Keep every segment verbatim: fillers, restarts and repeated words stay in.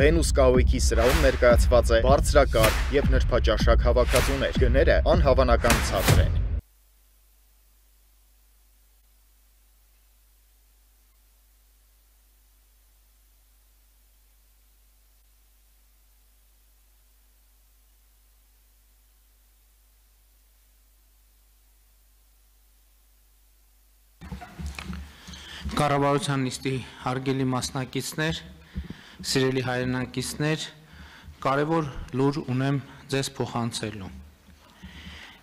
Venus կահույքի սրահում ներկայացված է բարձրակարգ եւ նրբաճաշակ հավաքածուներ։ Գները անհավանական ցածր են։ Կառավարության նիստի հարգելի մասնակիցներ, սիրելի հայրենակիցներ, կարևոր լուր ունեմ ձեզ փոխանցելու։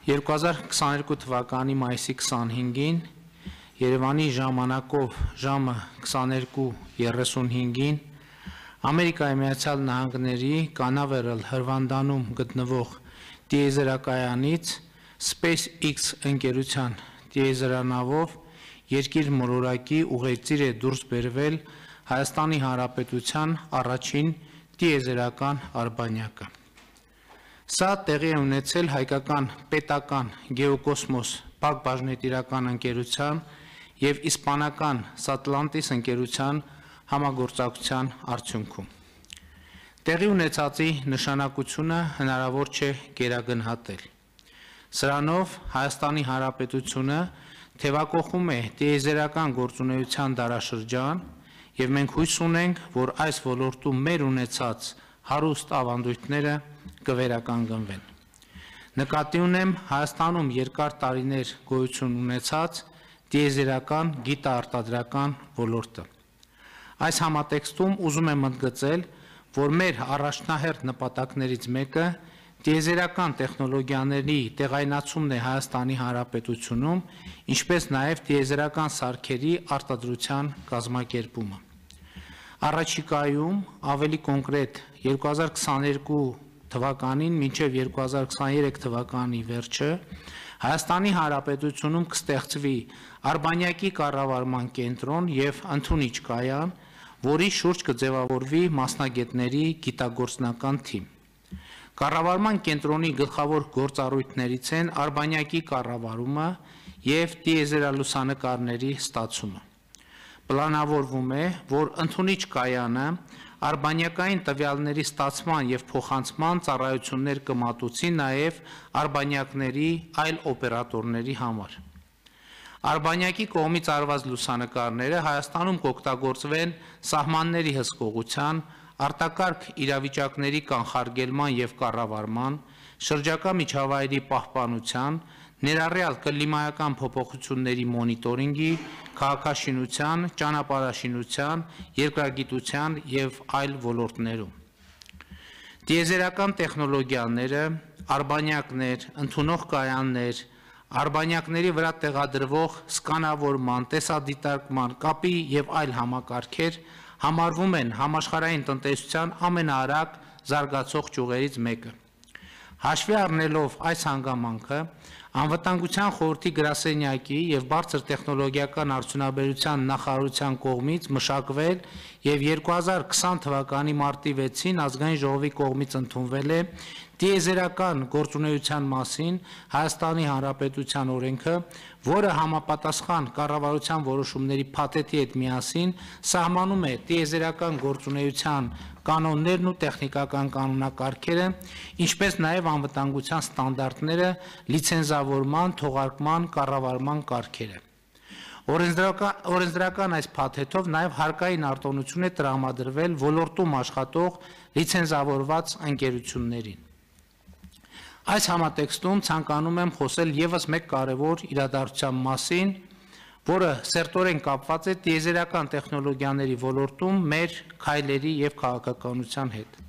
երկու հազար քսաներկու թվականի մայիսի քսանհինգին Երևանի ժամանակով ժամը քսաներկու երեսունհինգին Ամերիկայի Միացյալ Նահանգների Կանավերալ Հրվանդանում գտնվող տիեզերակայանից SpaceX ընկերության տիեզերանավով երկիր մոլորակի ուղեծիր է դուրս բերվել Հայաստանի Հանրապետության առաջին տիեզերական արբանյակը։ Սա տեղի է ունեցել հայկական պետական գեոկոսմոս փակ բաժնետիրական ընկերության և իսպանական Սատլանտիս ընկերության համագործակցության արդյունքում։ Տեղի ունեցածի նշանակությունը հնարավոր չէ գերագնահատել։ Սրանով Հայաստանի Հանրապետությունը թևակողում է տիեզերական գործունեության դարաշրջան և մենք հույս ունենք, որ այս ոլորտում մեր ունեցած հարուստ ավանդույթները կվերականգնվեն։ Նկատի ունեմ Հայաստանում երկար տարիներ գոյություն ունեցած տիեզերական գիտաարտադրական ոլորտը։ Այս համատեքստում ուզում եմ ընդգծել, որ մեր առաջնահերթ նպատակներից մեկը տիեզերական տեխնոլոգիաների տեղայնացումն է Հայաստանի Հանրապետությունում, ինչպես նաև տիեզերական սարքերի արտադրության կազմակերպումը։ Առաջիկայում, ավելի կոնկրետ երկու հազար քսաներկու թվականին մինչև երկու հազար քսաներեք թվականի վերջը Հայաստանի Հանրապետությունում կստեղծվի արբանյակի կառավարման կենտրոն և ընդունիչ կայան, որի շուրջ կձևավորվի մասնագետների գիտագործնական թիմ։ Կառավարման կենտրոնի գլխավոր գործառույթներից են արբանյակի կառավարումը և տիեզերալուսանկարների ստացումը։ Պլանավորվում է, որ ընդունիչ կայանը արբանյակային տվյալների ստացման և փոխանցման ծառայություններ կմատուցի նաև արբանյակների այլ օպերատորների համար։ Արբանյակի կողմից արված լուսանկարները Հայաստանում կօգտագործվեն սահմանների հսկողության, արտակարգ իրավիճակների կանխարգելման և կառավարման, շրջակա միջավայրի պահպանության, ներառյալ կլիմայական փոփոխությունների մոնիտորինգի, քաղաքաշինության, ճանապարհաշինության, երկրագիտության և այլ ոլորտներում։ Տիեզերական տեխնոլոգիաները, արբանյակներ, ընդունող կայաններ, արբանյակների վրա տեղադրվող սկանավորման, տեսադիտարկման, կապի և այլ համակարգեր համարվում են համաշխարհային տնտեսության ամենաարագ զարգացող ճյուղերից մեկը։ Հաշվի առնելով այս հանգամանքը, Անվտանգության խորհրդի գրասենյակի և բարձր տեխնոլոգիական արդյունաբերության նախարարության կողմից մշակվել և երկու հազար քսան թվականի մարտի վեցին ազգային ժողովի կողմից ընդունվել է տիեզերական գործունեության մասին Հայաստանի Հանրապետության օրենքը, որը համապատասխան կառավարության որոշումների փաթեթի հետ միասին սահմանում է տիեզերական գործունեության կանոններն ու տեխնիկական կանոնակարգերը, ինչպես նաև անվտանգության ստանդարտները, լիցենզավորման, թողարկման, կառավարման կարգերը։ Օրենսդրական այս փաթեթով նաև հարկային արտոնություն է տրամադրվել ոլորտում աշխատող լիցենզավորված ընկերություններին։ Այս համատեքստում ցանկանում եմ խոսել ևս մեկ կարևոր իրադարձության մասին, որը սերտորեն կապված է տիեզերական տեխնոլոգիաների ոլորտում մեր քայլերի և քաղաքականության հետ։